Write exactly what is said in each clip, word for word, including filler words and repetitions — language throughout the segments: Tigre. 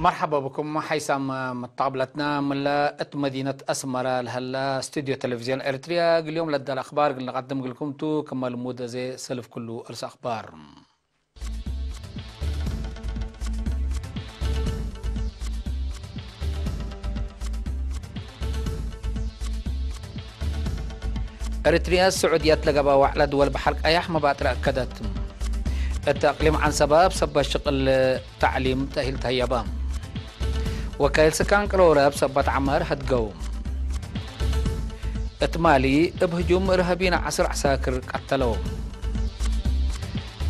መርሐባ ብኩም ሓይሳም መታብለትና። ምለ እት መዲነት አስመረ ለሀለ ስቱድዮ ቴሌቪዝዮን ኤሪትርያ፣ እግል ዮም ለዳለ አኽባር እግል ነቀድም እግልኩም ቱ። ክመ ልሙድ አዜ ሰልፍ ክሉ እርስ አኽባር። ኤሪትርያ፣ ስዑድየት ለገብአ ወዕለ ድወል በሐር ቀያሕ መባጥረ አከደት። እት አቅሊም ዐንሰበ እብ ሰበት ሽቅል ተዕሊም ተእሂል ተህየበ። ወካይል ስካን ቅሮረ እብ ሰበት ዐመር ሀድገው። እት ማሊ፣ እብ ህጁም እርሃቢን ዐስር ዐሳክር ቀተለው።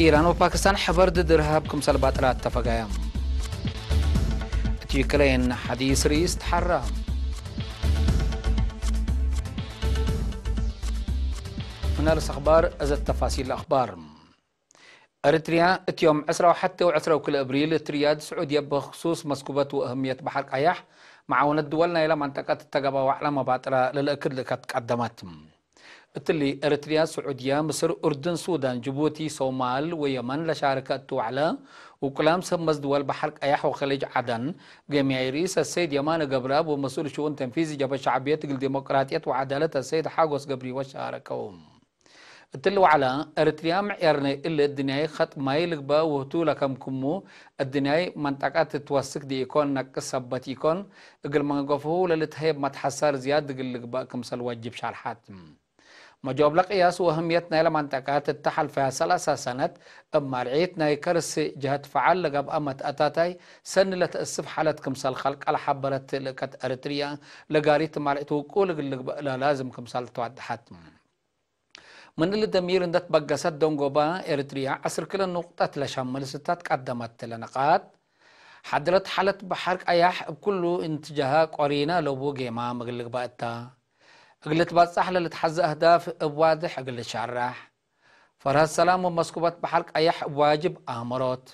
ኢራን ወፓኪስታን ሕበር ድድ እርሃብ ክምሰል ባጥራት ተፈጋየ። እት ዩክሬን፣ ሐዲስ ርኢስ ተሐራ። ምን አርስ አኽባር፣ እዘ ተፋሲል አኽባር። ኤሪትርያ፣ እት ዮም ዕስራ ወሐቴ ወዕስራ ወክልኤ እብሪል፣ እት ርያድ ስዑድየ፣ በክሱስ መስኩበት ወእህምየት በሐር ቀያሕ፣ መዓውነት ድወል ናይለ መንጠቀት እተ ገብአ ወዕለ መባጥረ ለልእክድ ልእከት ቀደመት። እትሊ፣ ኤሪትርያ፣ ስዑድየ፣ ምስር፣ ኡርድን፣ ሱዳን፣ ጅቡቲ፣ ሶማል ወየመን ለሻርከ እቱ ወዕለ፣ ውቁላም ሰብ መዝ ድወል በሐር ቀያሕ ወኸሊጅ ዐደን፣ ገምያይ ርኢስ አሰይድ የማነ ገብረአብ ወመስኡል ሽኡን ተንፊዚ ጀብሀት ሸዕብየት እግል ዲሞቅራጥየት ወዐዳለት አሰይድ ሓጎስ ገብሪወት ሻረከው። እትሊ ወዕለ፣ ኤሪትርያ ምዕያርነ እሊ እድንያይ ኸጥ ማይ ልግበእ ውህቱ ለከምክሙ፣ እድንያይ መንጠቀት ትወስክ ዲኢኮን ነቅስ ሰበት ኢኮን፣ እግል መንገፍሁ ለልትሀየብ መትሐሰር ዝያድ እግል ልግበእ ክምሰል ወጅብ ሻርሐት። መጆብለ ቅያስ ወእህምየት ናይለ መንጠቀት እተ ሐልፈያ ሰላሳ ሰነት እብ ማልዒት ናይ ከርስ ጀህት ፈዓል ለገብአ መትአታታይ ሰኒ ለተአስፍ ሓለት ክምሰል ከልቀ ለሐበረት ልእከት ኤሪትርያ፣ ለጋሪት ማልዒት ውቁል እግል ልግበእ ለላዝም ክምሰል ተወደሐት። ምን እሊ ደሚር እንደ ትበገሰት ደንጎባ ኤሪትርያ ዐስር ክለ ኑቅጠት ለሸምል ስታት ቀደመት ለነቃጥ፣ ሐድረት ሓለት በሐር ቀያሕ እብ ኩሉ እንትጃሃ ቆሪነ ለቡ ጌማም እግል ልግበእ እተ። እግል ልትበጻሕ ለልትሐዘ አህዳፍ እብ ዋድሕ እግል ልትሸረሕ። ፈርሀት ሰላም ወመስኩበት በሐር ቀያሕ እብ ዋጅብ አምሮት።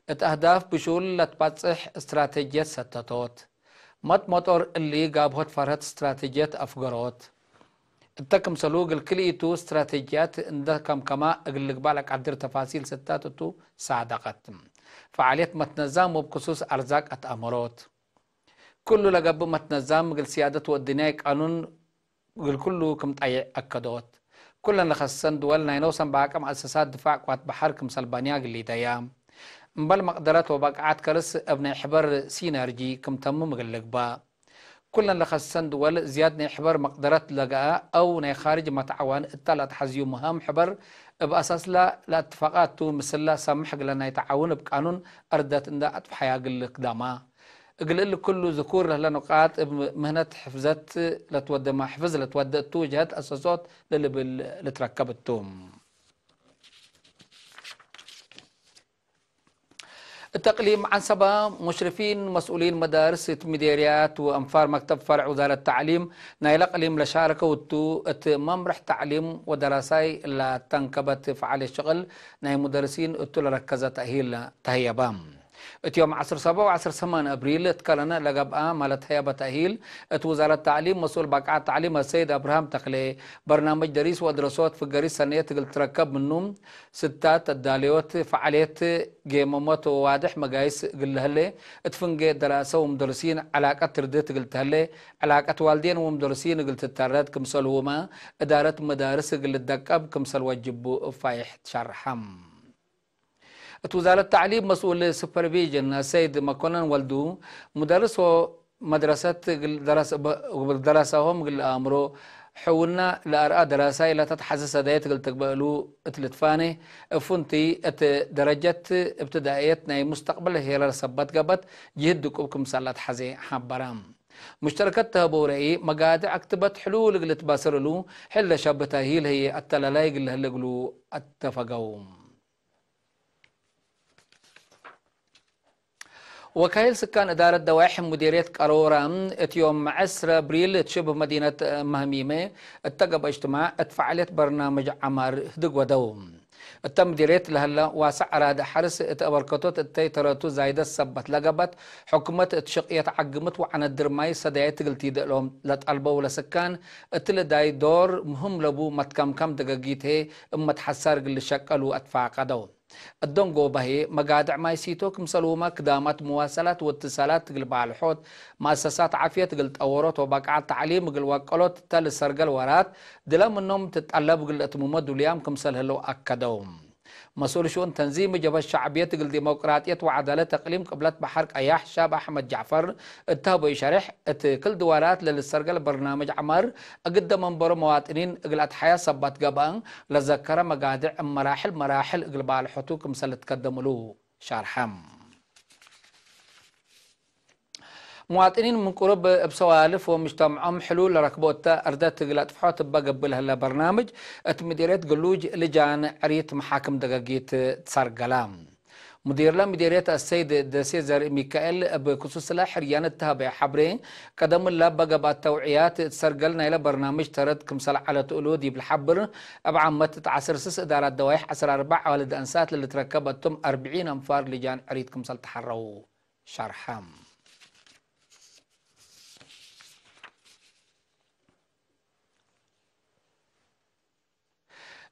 እት አህዳፍ ብሹል ለትባጽሕ እስትራቴጅየት ሰተቶት። መጥ መጦር እሊ ጋብሆት ፈርሀት እስትራቴጅየት አፍገሮት። እተ ክምሰሉ እግል ክልኢቱ እስትራቴጅያት እንደ ከምከማ እግል ልግባእ ለቀድር ተፋሲል ስታት እቱ ሳደቀት። ፈዓልየት መትነዛም ወብ ክሱስ አርዛቅ አትአመሮት። ክሉ ለገብእ መትነዛም እግል ስያደት ወእድንያይ ቃኑን እግል ክሉ ክም ጠይዕ አከዶት። ኩለን ለከሰሰን ድወል ናይ ኖሰን በአቅም አሰሳት ድፋዕ ቅዋት በሐር ክምሰል ባንያ እግል ሊደያ። እምበል መቅደረት ወበቅዓት ከርስ እብ ናይ ሕበር ሲነርጂ ክም ተምም እግል ልግባእ። ኩለን ለከሰሰን ድወል ዝያድ ናይ ሕበር መቅደረት ለገአ አው ናይ ካርጅ መትዓዋን እተ ለአትሐዝዩ ምህም ሕበር እብ አሳስላ ለአትፋቃቱ ምስላ ሳምሕ እግለ ናይ ተዓውን እብ ቃኑን አርደት እንደ አጥፍሐያ እግል ልክዳማ። እግል እሊ ክሉ ዝኩር ለህለ ኑቃጥ እብ ምህነት ሕፍዘት ለትወደመ፣ ሕፍዝ ለትወደ እቱ ጀህት አሰሶት ለልብል ልትረከብ እቱ። እት እቅሊም ዐንሰበ፣ ሙሽሪፊን መስኡሊን መዳርስ እት ምዴርያት ወአንፋር መክተብ ፈርዕ ውዛረት ተዕሊም ናይለ እቅሊም ለሻረከው እቱ፣ እት መምርሕ ተዕሊም ወደራሳይ ለተንከበት ፈዓልየት ሽቅል ናይ ሙደርሲን እቱ ለረከዘ ተእሂል ተህየበ። እት ዮም ዐስር ሰብዕ ወዐስር ሰማን አብሪል እት ከረነ ለገብአ መለት ህየበ ተእሂል እት ውዛረት ተዕሊም መስኡል ባቅዓት ተዕሊም አሰይድ አብርሃም ተክሌ፣ በርናምጅ ደሪስ ወአድረሶት ፍገሪት ሰነየት እግል ትረከብ ምኑ፣ ስታት አዳለዮት፣ ፈዓልየት፣ ጌመሞት ወዋድሕ መጋይስ እግል ለህሌ፣ እት ፍንጌ ደራሰ ወሙደርሲን ዕላቀት ትርድት እግል ተህሌ፣ ዕላቀት ዋልዴን ወሙደርሲን እግል ትተረድ ክምሰልሁመ፣ እዳረት መዳርስ እግል ልደቀብ ክምሰል ወጅቡ እብ ፋይሕ ትሸርሐ። እት ውዛረት ተዕሊም መስኡል ሱፐርቪዥን አሰይድ መኮነን ወልዱ፣ ሙደርስ ወመድረሰት እግል ደረስ-፣ እግል ደረሰሆም እግል ለአምሮ፣ ሕውና ለአርአ ደራሳይ ለተትሐዘ ሰዳየት እግል ትግበእ እሉ እት ልትፋኔ፣ እፉንቲ እት ደረጀት እብትዳእየት ናይ ሙስተቅበል ሄረር ሰበት ገብአት ጅህድ ድቁብ ክምሰል ለትሐዜ ሐበረ። ሙሽተረከት ተህበው ረኢ፣ መጋድዕ አክትበት ሕሉል እግል ልትባሰር እሉ፣ ሕል ለሸብህ ተእሂል ህዬ አተላላይ እግል ለህለ እግሉ አተፈገው። ወካይል ስካን እዳረት ደዋይሕ ሙዲርየት ቀሮረ፣ እት ዮም ዐስረ አብሪል እት ሽብህ መዲነት መህሚመ እተ ገብአ እጅትማዕ እት ፈዓልየት በርናምጅ ዐማር ህድግ ወደው። እተ ምዲርየት ለህለ ዋሰዕ አራዲ ሐርስ እት አበርከቶት እተይ ተረቱ ዛይደት ሰበት ለገብአት፣ ሕኩመት እት ሽቅየት ዐግምት ወዐነድር ማይ ሰዳየት እግል ቲደእ እሎም ለጠልበው ለስካን፣ እትሊ ዳይ ዶር ምህም ለቡ መትከምከም ደገጊት ህዬ እብ መትሐሳር እግል ልሸቀሉ አትፋቀደው። እዶንጎ በህዬ፣ መጋድዕ ማይ ሲቶ ክምሰልሁመ ክዳማት መዋሰላት ወእትሳላት እግል ባልሖት፣ መአሰሳት ዓፍየት እግል ጠወሮት ወበቃዕት ተዕሊም እግል ወቀሎት እተ ልሰርገል ወራት፣ ድለ ምኖም ትጠለብ እግል ለእትምሞ ዱልያም ክምሰል ህለው አከደው። መስኡል ሽኡን ተንዚም ጀብሀት ሸዕብየት እግል ዲሞቅራጥየት ወዐዳለት እቅሊም ቅብለት በሐር ቀያሕ ሻብ አሕመድ ጃዕፈር እተ ሀበዩ ሸሬሕ፣ እት ክል ድዋራት ለልሰርገል በርናምጅ ዐማር እግደ መንበሮ መዋጥኒን እግል አትሐያ ሰበት ገብአ ለዘከረ መጋድዕ እብ መራሕል መራሕል እግል ባልሖቱ ክምሰል ልትከደም እሉ ሻርሐ። መዋጥኒን ምን ቅሩብ እብ ሰዋልፍ ወምጅተምዖም ሕሉል ለረክቦ እተ፣ አርደት እግል አጥፍሖት እበ ገብእ ለህለ በርናምጅ፣ እት ምዲርየት ግሉጅ ልጃን ዕሪት መሓክም ደገጊት ትሰርገላ። ሙዲርለ ምዲርየት አሰይድ ደሴ ዘርእ ሚካኤል፣ እብ ክሱስለ ሕርያን እተ ሀበየ ሐብሬ፣ ቀደም እለ እበ ገብአት ተውዕያት እት ሰርገል ናይለ በርናምጅ ተረት ክምሰል ዐለት እሉ ዲብ ለሐብር፣ እብ ዓመት እት ዐስር ስስ እዳራት ደዋይሕ ዐስር አርበዕ አዋልድ አንሳት ለልትረከብ እቶም አርብዒን አንፋር ልጃን ዕሪት ክምሰል ተሐረው። ሸርሐ።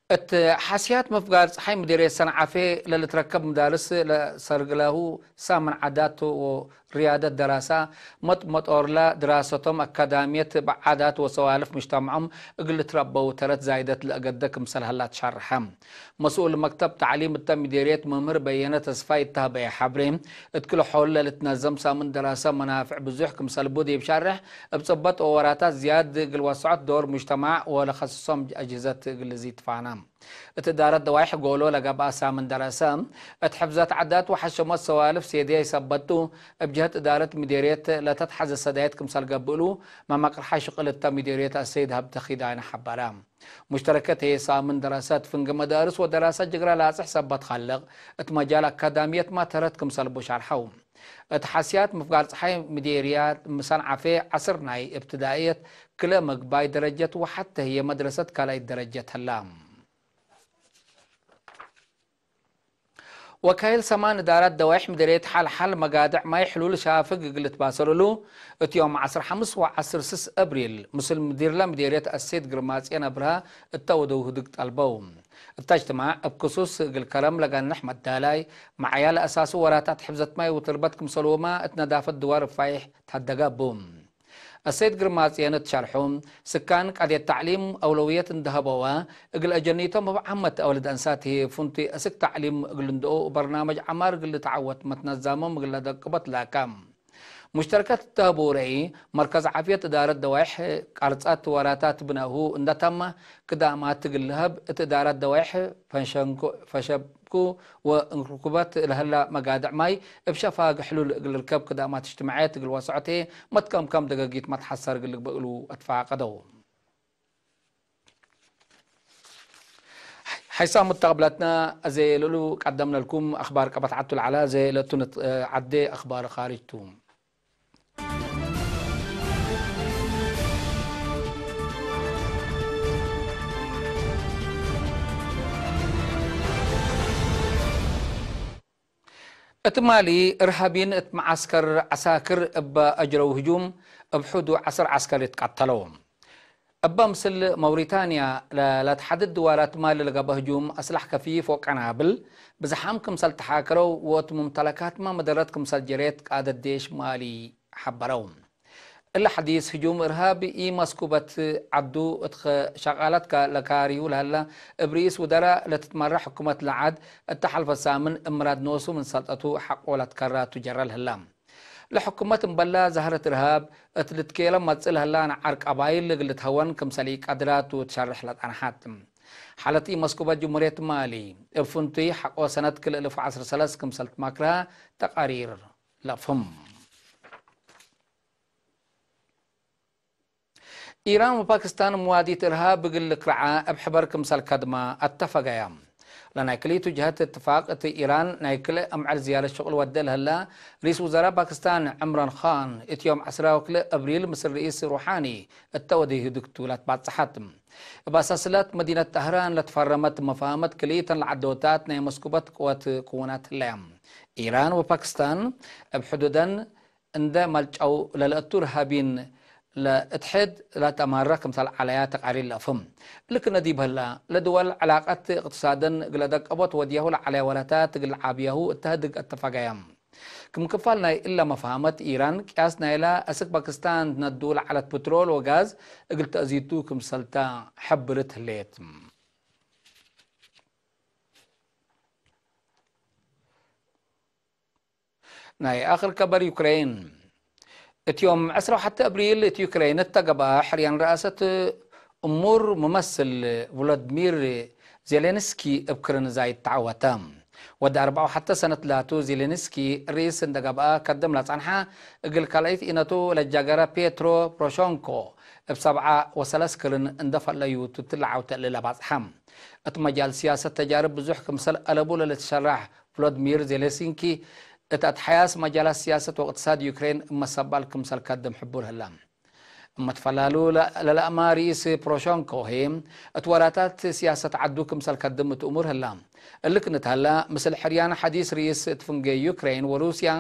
እት ሐስያት ምፍጋር ጸሓይ ምዴርየት ሰንዓፌ ለልትረከብ መዳርስ ለሰርግለሁ ሳምን ዓዳት ወርያደት ደራሳ፣ መጥ-መጦርለ ድራሰቶም አካዳምየት እብ ዓዳት ወሰዋልፍ ምጅተምዖም እግል ልትረበው ተረት ዛይደት ለአገደ ክምሰል ሀላ ትሸርሐ። መስኡል መክተብ ተዕሊም እተ ምዴርየት መምህር በየነ ተስፋይ እተ ሀበየ ሐብሬ፣ እት ክል ሖል ለልትነዘም ሳምን ደራሰ መናፍዕ ብዙሕ ክምሰል ቡ ዲብ ሻርሕ፣ እብ ጽበጥ ወወራታት ዝያድ እግል ወሰዖት ዶር ሙጅተማዕ ወለከስሶም አጅህዘት እግል ልዚድ ትፋና። እት እዳረት ደዋይሕ ጎሎ ለገብአ ሳምን ደራሰ፣ እት ሕፍዘት ዓዳት ወሐሸሞት ሰዋልፍ ሴድያይ ሰበት ቱ፣ እብ ጀህት እዳረት ምዴርየት ለተትሐዘ ሰዳየት ክምሰል ገብእ እሉ፣ መመቅርሓ ሽቅል እተ ምዴርየት አሰይድ ሀብተ ኪዳነ ሐበረ። ሙሽተረከት ህዬ ሳምን ደረሰት ፍንጌ መዳርስ ወደራሰት ጅግረ ላጽሕ ሰበት ካልቅ እት መጃል አካዳምየት ማ ተረት ክምሰል ቡ ሸርሐው። እት ሐስያት ምፍጋር ጸሓይ ምዴርያት ምሰንዓፌ ዐስር ናይ እብትዳእየት ክልኤ መግባይ ደረጀት ወሐቴ ህዬ መድረሰት ካልኣይት ደረጀት ህላ። ወካይል ሰማን እዳራት ደዋይሕ ምድርየት ሐል-ሐል መጋድዕ ማይ ሕሉል ሻፍግ እግል ልትባሰል እሉ፣ እት ዮም ዐስር ሐምስ ወዐስር ስስ አብሪል፣ ምስል ምዲርለ ምዴርየት አሴት ግርማጽዮን አብርሃ እተ ወደው ህድግ ጠልበው። እተ እጅትማዕ እብ ክሱስ እግል ከረም ለገንሕ መዳላይ፣ መዓያ ለአሳሱ ወራታት ሕፍዘት ማይ ወትርበት ክምሰልሁመ እት ነዳፈት ድዋር ፋይሕ ተሀደገ እቡ። አሰይድ ግርማጽዮን እት ሸርሑ፣ ስካን ቀድየት ተዕሊም አውለውየት እንዴ ሀበወ፣ እግል አጀኒቶም እብ ዓመት አውልድ አንሳት ህዬ ፍንቱይ አስክ ተዕሊም እግል ልንድኦ ወበርናመጅ ዐማር እግል ልትዓወት መትነዛሞም እግል ለደቅቦ ትላከ። ሙሽተረከት እተ ሀቡ ረኢ፣ መርከዝ ዓፍየት እዳረት ደዋይሕ ቀርጸት ወራታት ብነሁ እንዴ ተመ፣ ክዳማት እግል ለሀብ እት እዳረት ደዋይሕ ፈንሸንኮ-፣ ፈሸብ ቱ ወእንክርኩበት ለህላ መጋድዕ ማይ እብ ሸፋግ ሕሉል እግል ልርከብ ክዳማት እጅትማዕየት እግል ወሰዖት መትከምከም ደገጊት መትሐሰር እግል ልግበእ እሉ አትፋቀደው። ሐይሳም ሙተቅብለትነ፣ አዜ ለእሉ ቀደምነ ለኩም አክባር ቀበት ዐቱ ለዐለ፣ አዜ ለእቱ ንት-፣ ዐዴ አክባር ካርጅ ቱ። እት ማሊ፣ እርሃቢን እት መዓስከር ዐሳክር እበ አጅረው ህጁም፣ እብ ሑዱ ዐስር ዐስከር ይትቀተለው። እበ ምስል መውሪታንያ ለ-፣ ለትሐድድ ድዋራት ማሊ ለገብአ ህጁም አስላሕ ከፊፍ ወቀናብል ብዝሓም ክምሰል ተሓከረው ወእት ሙምተለካትመ መደረት ክምሰል ጀሬት ቃደት ዴሽ ማሊ ሐበረው። እለ ሐዲስ ህጁም እርሃብ ኢመስኩበት ዐዱ እት ሸቃላት ለካርዩ ለሀለ እብ ርኢስ ውደራ ለትትመረሕ ሕኩመት ለዐድ እተ ሐልፈ ሳምን እብ ምራድ ኖሱ ምን ሰልጠቱ ሐቆ ለትከራ ቱ ጀረ ለህላ። ለሕኩመት እምበላ ዛህረት እርሃብ እት ልትኬለ መጽእ ለህላ ነዓር ቀባይል እግል ልትሀወን ክምሰል ኢቀድራ ቱ ትሸርሕ ለጸንሐት። ሓለት ኢመስኩበት ጅምሁርየት ማሊ እብ ፍንቱይ ሐቆ ሰነት ክልኤ እልፍ ወዐስር ወሰለስ ክምሰል ትማክራ ተቃሪር ለአፍህም። ኢራን ወፓኪስታን መዋዲት እርሃብ እግል ልክርዓ እብ ሕበር ክምሰል ከድማ አተፈገያ። ለናይ ክልኢቱ ጀሀት እትፋቅ እት ኢራን ናይ ክልኤ አምዕል ዝያረት ሽቁል ወዴ ለህላ ርኢስ ውዘራእ ፓኪስታን ዕምራን ካን እት ዮም ዐስራ ወክልኤ አብሪል ምስል ርኢስ ሩሓኒ እተ ወዴ ህድግቱ ለትባጽሐት። እብ አሳስለት መዲነት ጠህራን ለትፈረመት መፋህመት ክልኢተን ለዐዶታት ናይ መስኩበት ቅወት ክውናት ህለያ። ኢራን ወፓኪስታን እብ ሕዱደን እንዴ መልጨው ለልአቱ እርሃቢን ለእትሕድ ለተአማረ ክምሰል ዐለያ ተቃሪር ለአፍህም። እሊ ክነ ዲብ ህላ፣ ለድወል ዕላቀት እቅትሳደን እግለ ደቀቦት ወድያሁ ለዐለየ ወለታት እግል ዓብያሁ እተ ህድግ አተፋጋያም። ክም ክፋል ናይ እለ መፍሀመት፣ ኢራን ቅያስ ናይላ አስክ ፓኪስታን ትነዱ ለዐለት ፕትሮል ወጋዝ እግል ተአዚቱ ክምሰልታ ሐብርት ህሌት። ናይ አክር ከበር ዩክሬን። እት ዮም ዕስራ ወሐተ አብሪል እት ዩክሬን እተ ገብአ ሕርያን ረአሰት እሙር ሙመስል ቮሎድሚር ዜሌንስኪ እብ ክርን ዛይድ ተዐወተ። ወድ አርበዕ ወሐተ ሰነት ላቱ ዜሌንስኪ ርኢስ እንደ ገብአ ከድም ለጸንሐ እግል ካልአይት ኢነቱ ለጃገረ ፔትሮ ፖሮሾንኮ እብ ሰብዓ ወሰለስ ክርን እንደ ፈለዩ ቱ እትለ ዐውተ እሊ ለባጽሐ። እት መጃል ስያሰት ተጃርብ ብዙሕ ክምሰል አለቡ ለልትሸራሕ ቮሎድሚር ዜሌንስኪ፣ እት አትሐያስ መጃላት ስያሰት ወእቅትሳድ ዩክሬን እብ መሰባል ክምሰል ከድም ሕቡር ህለ። እመ ትፈላሉ ለ-፣ ለለአማ ርኢስ ፖሮሾንኮ ህይ፣ እት ወላታት ስያሰት ዐዱ ክምሰል ከድም እት እሙር ህለ። እሊ ክነት ሀላ፣ ምስል ሕርያን ሐዲስ ርኢስ እት ፍንጌ ዩክሬን ወሩስያ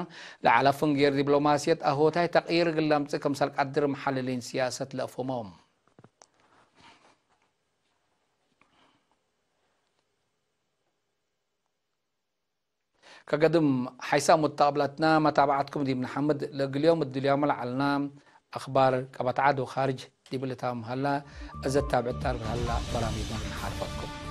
ለዐለ ፍንጌር ዲፕሎማስየት አሆታይ ተቅይር እግል ለምጽእ ክምሰል ቀድር መሐልሊን ስያሰት ለአፍህሞም። ከገድም ሓይሳም ወተቅብለትና መታብዐትኩም ዲብ ነሐምድ፣ ለእግል ዮም እድልያሙ ለዐልና አክባር ቀበት ዐድ ወካርጅ ዲብ ልታም ሀላ፣ እዘ ታብዕት ዳርብ ሀላ በራሚጅና ነሓልፈኩም።